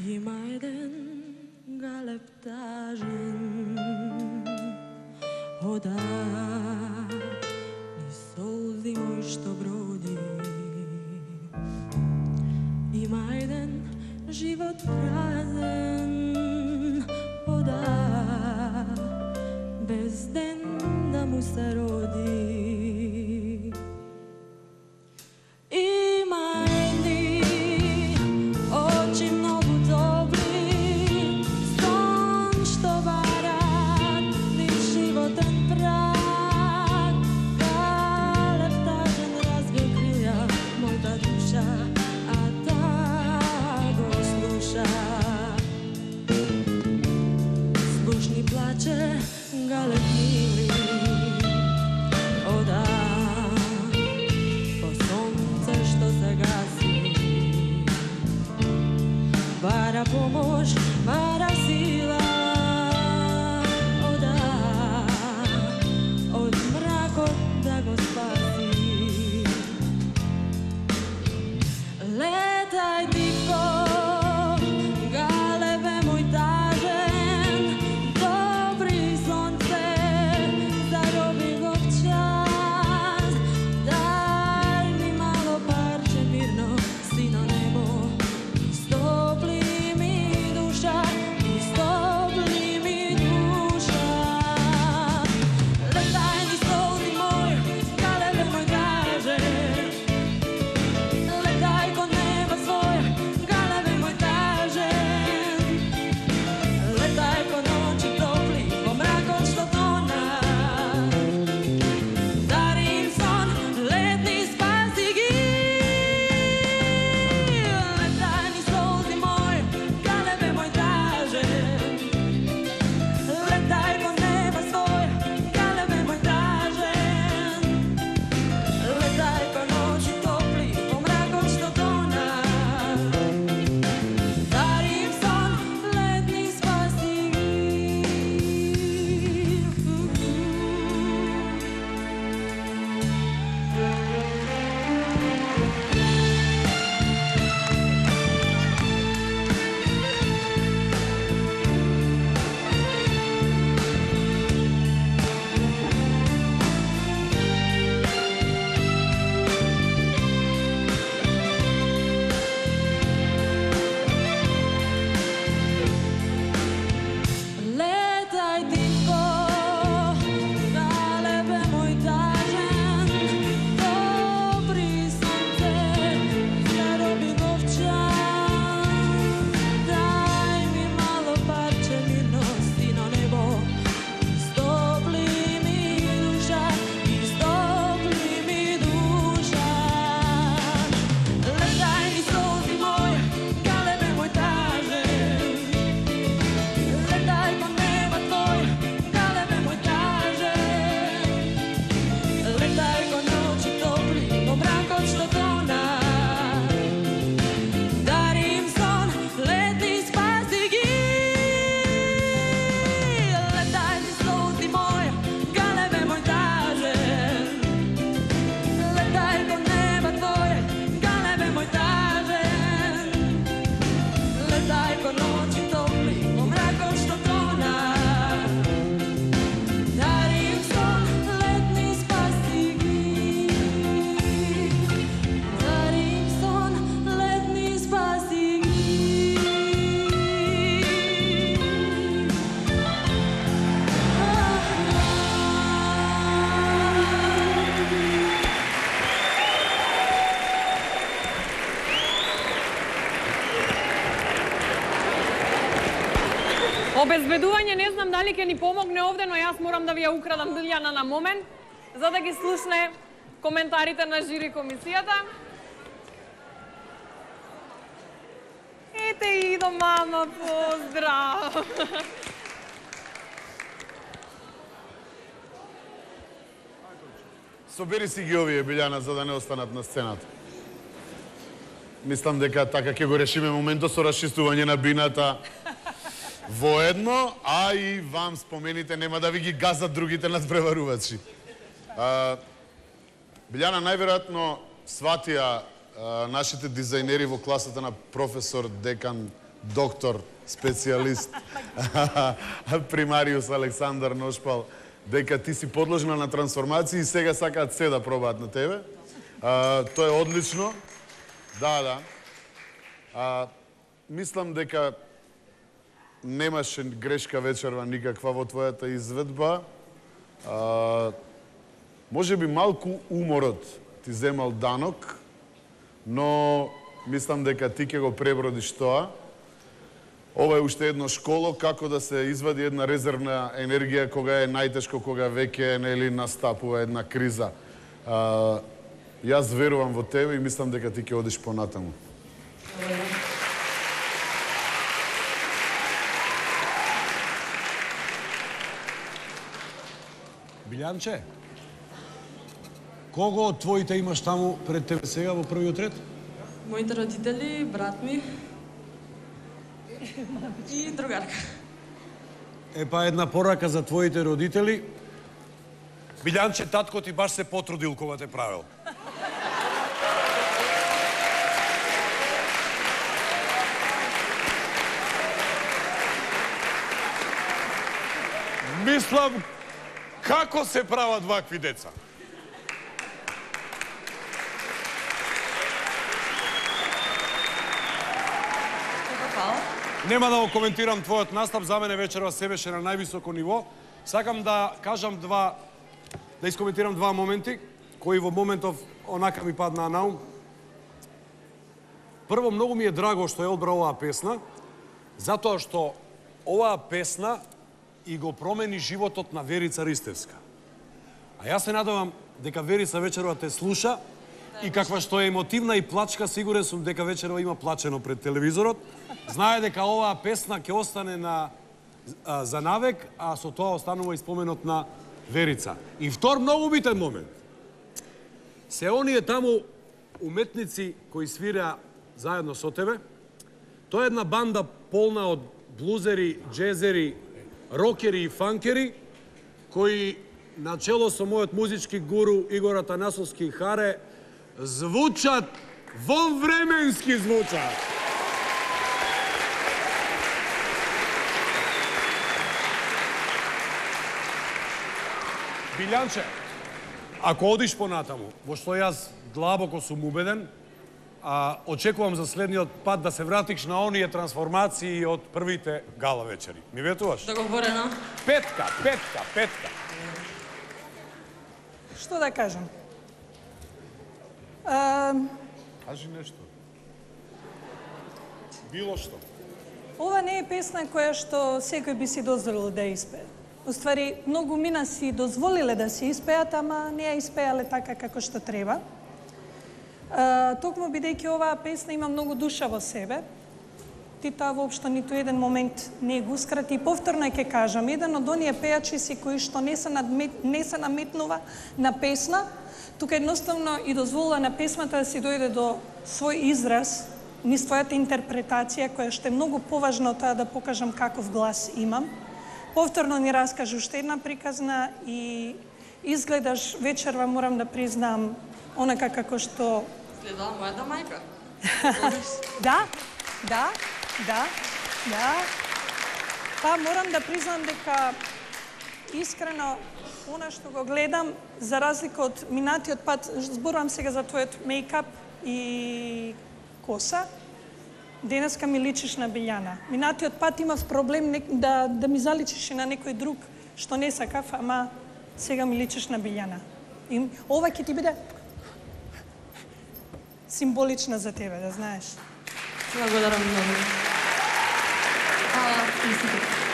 Има еден галеб тажен, ода ни солзи мој што броди. Има еден живот празен, ода без ден да му се роди. Има едни очи многу добри, сон што барат низ животен праг. Галеб тажен развил крилја мојта душа, а та го слуша. Слушни плаче галеб мили, ода по сонце што се гаси. Бара помош, бара сила, ода од мракот да го спаси. Летај тихо, галебе мој тажен, добри сонце, зароби го в час. Дај ми мало парче мирно, сино небо, истопли ми душа, истопли ми душа. Летај низ солзи мој, галебе мој тажен, летај кон неба свој, галебе мој тажен, летај по ноќи топли, по мракот што тона. Дари им сон, летни спаси ги. Летај низ солзи мој, галебе мој тажен, летај кон неба свој, галебе мој тажен, летај по ноќи топли, по мракот што тона. Дари им сон, летни спаси ги. Летај тихо, галебе мој тажен, добри сонце, зароби го в час. Дај ми мало парче мирно, сино небо, истопли ми душа, истопли ми душа. Летај низ солзи мој, галебе мој тажен, летај кон неба твој, галебе мој тажен, летај кон ноќи топли, по мракот што тона. Дари им сон, летни спаси ги. Летај низ солзи мој, галебе мој тажен, летај кон неба твој, галебе мој тажен, летај кон ноќи топли, по мракот што тона. Дари им сон, летни спаси ги. Дари им сон, летни спаси ги. Обезбедување не знам дали ќе ни помогне овде, но јас морам да ви ја украдам Билјана на момент, за да ги слушне коментарите на жири комисијата. Ете идо, мама, поздрав! Собери си ги овие, Билјана, за да не останат на сцената. Мислам дека така ќе го решиме моментот со расчистување на бината воедно, а и вам спомените, нема да ви ги газат другите надпреварувачи. Билјана, најверојатно сватија нашите дизајнери во класата на професор Декан доктор, специјалист, примариус Александар Ношпал, дека ти си подложена на трансформација и сега сакаат се да пробаат на тебе. Тоа е одлично. Да. Мислам дека немаше грешка вечерва никаква во твојата изведба. Може би малку уморот ти земал данок, но мислам дека ти ќе го пребродиш тоа. Ова е уште едно школо како да се извади една резервна енергија кога е најтешко, кога веќе настапува една криза. Јас верувам во тебе и мислам дека ти ќе одиш понатаму. Билјанче, кого од твоите имаш таму пред тебе сега во првиот ред? Моите родители, брат ми и другарка. Епа една порака за твоите родители. Билјанче, татко ти баш се потрудил кога те правил. Мислам, како се прават вакви деца? Нема да го коментирам твојот настап, за мене вечерва се беше на највисоко ниво. Сакам да кажам да искоментирам два моменти, кои во моментов онака ми паднаа на ум. Прво, многу ми е драго што ја одбра оваа песна, затоа што оваа песна и го промени животот на Верица Ристевска. А јас се надевам дека Верица вечерва те слуша и каква што е емотивна и плачка, сигурен сум дека вечерва има плачено пред телевизорот. Знае дека оваа песна ќе остане за навек, а со тоа останува и споменот на Верица. И втор многу битен момент. Се оние таму уметници кои свира заедно со тебе, тоа е една банда полна од блузери, джезери, рокери и фанкери, кои начело со мојот музички гуру Игор Атанасовски Харе звучат вонвременски звучат. Билјанче, ако одиш понатаму, во што јас длабоко сум убеден, очекувам за следниот пат да се вратиш на оние трансформации од првите гала вечери. Ми ветуваш? Договорено. Петка. Што да кажам? Кажи нешто. Било што. Ова не е песна која што секој би си дозволил да испее. Уствари, многу мина си дозволиле да се испеат, ама не ја испеале така како што треба. Токму бидејќи оваа песна има многу душа во себе, ти таа воопшто ниту еден момент не го ускрати. И повторно ќе кажам, еден од оние пејачи си кои што не се наметнува на песна, тука едноставно и дозволува на песмата да си дојде до свој израз, низ твојата интерпретација, која што е многу поважно тоа да покажам каков глас имам. Повторно ни раскажу уште една приказна и изгледаш вечерва, морам да признам, онака како што... Гледала мојата мајка. Да. Па морам да признам дека искрено она што го гледам, за разлика од минатиот пат, зборувам сега за твојот мејкап и коса, денеска ми личиш на Билјана. Минатиот пат имав проблем да ми заличиш и на некој друг што не сакав, ама сега ми личиш на Билјана. И ова ќе ти биде символична за тебе, да знаеш. Благодарам многу. Hvala.